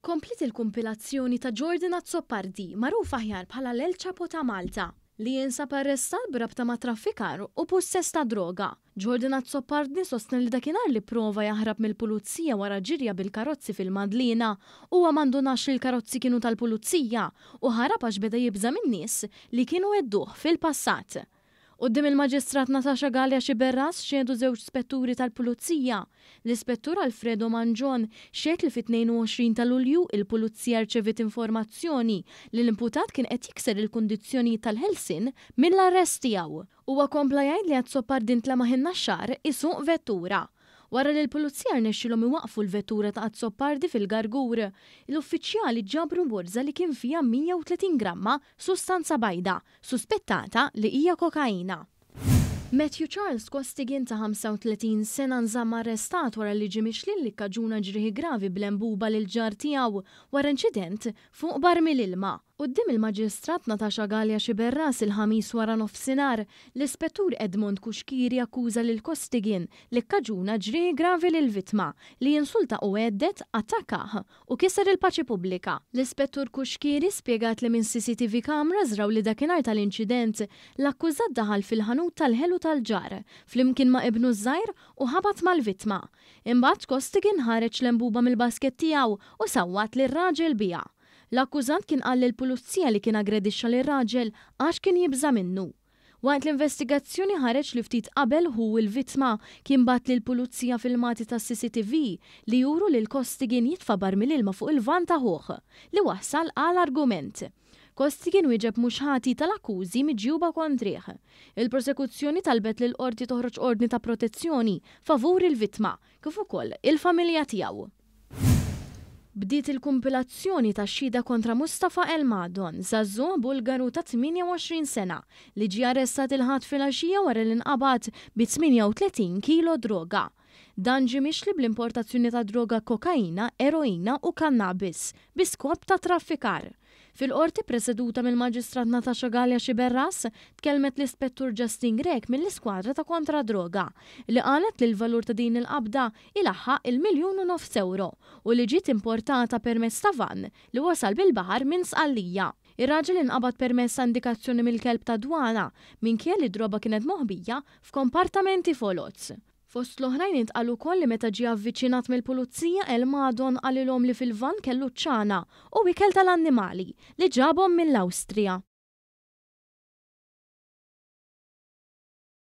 Kompliet il-kumpilazzjoni ta' Jordan Azzopardi, magħruf aħjar bħala l-El Chapo ta' Malta, li jinsab arrestat b'rabta ma' traffikar u pussess ta' droga. Jordan Azzopardi sostna li dakinhar li pprova jaħrab mill-pulizija wara ġirja bil-karozzi fil-Madliena, huwa ma ndunax li l-karozzi kienu tal-pulizija u ħarab għax beda jibża' min-nies li kienu għedduh fil-passat. Quddiem il-Maġistrat Natasha Galea Sciberras xehdu żewġ spetturi tal-Pulizija. L-Ispettur Alfredo Mangion xehed li fit-22 ta' Lulju il-Pulizija rċeviet informazzjoni li l-imputat kien qed jikser il-kundizzjonijiet tal-ħelsien mill-arrest tiegħu. Huwa kompla jgħid li Azzopardi ntlemaħ in-Naxxar isuq vettura. Wara li l-Pulizija rnexxielhom iwaqqfu l-vettura ta' Azzopardi fil-Gargur, l-uffiċjali ġabru borża li kien fiha 130 gramma sustanza bajda, suspettata li hija kokaina. Matthew Charles Costigan ta' 35 sena nżamm arrestat wara li ġie mixli li kkaġuna ġrieħi gravi b'lembuba lill-ġar tiegħu wara inċident fuq barmil ilma. Quddiem il-Maġistrat Natasha Galea Sciberras il-Ħamis waranofsinhar, l-Ispettur Edmond Cuschieri akkuża lil Costigan li kkaġuna ġrieħi gravi lill-vittma, li insulta u għedded, attakkah u kiser il-paċi pubblika. L-Ispettur Cuschieri spjegat li minn CCTV cameras raw li dakinhar tal-inċident, l-akkużat daħal fil-ħanut tal-ħelu tal-ġar, flimkien ma' ibnu ż-żgħir u ħabat mal-vittma. Imbagħad Costigan ħareġ lembuba mill-basket tiegħu u sawwat lir-raġel biha. L-akkużat kien qal lill-Pulizija li kien aggredixxa lir-raġel għax kien jibża' minnu. Waqt l-investigazzjoni ħareġ li ftit qabel ħu l-vittma kien bagħat lill-Pulizija filmati tas-CCTV li juru lil Costigan jitfa' barmil ilma fuq il-vann ta' ħuh, li wassal għal argument. Costigan wieġeb mhux ħati tal-akkużi miġjuba kontrih. Il-Prosekuzzjoni talbet lill-Qorti toħroġ ordni ta' protezzjoni favur il-vittma, kif ukoll il-familja tiegħu. Bdiet il-kumpilazzjoni tax-xhieda kontra Mustafa Elmadon, żagħżugħ Bulgaru ta' 28 sena, li ġie arrestat il-Ħadd filgħaxija wara li nqabad bi 38 kilo droga. Dan ġie mixli bl-importazzjoni ta' droga kokaina, eroina u kannabis bi skop ta' traffikar. Fil-Qorti ppreseduta mill-Maġistrat Natasha Galea Sciberras, tkellmet l-Ispettur Justine Grech mill-Iskwadra ta' Kontra d-Droga, li qalet li l-valur ta' din il-qabda ilaħħaq il-miljun u nofs ewro u li ġiet importata permezz ta' vann li wasal bil-baħar minn Sqallija. Ir-raġel inqabad permezz ta' indikazzjoni mill-kelb tad-dwana, minkejja li d-droba kienet moħbija f'kompartamenti foloz. Fost l-oħrajn intqal ukoll li meta ġie avviċinat mill-Pulizija El Madon qalilhom li fil-vann kellu ċ-ċana u ikel tal-annimali li ġabhom mill-Awstrija.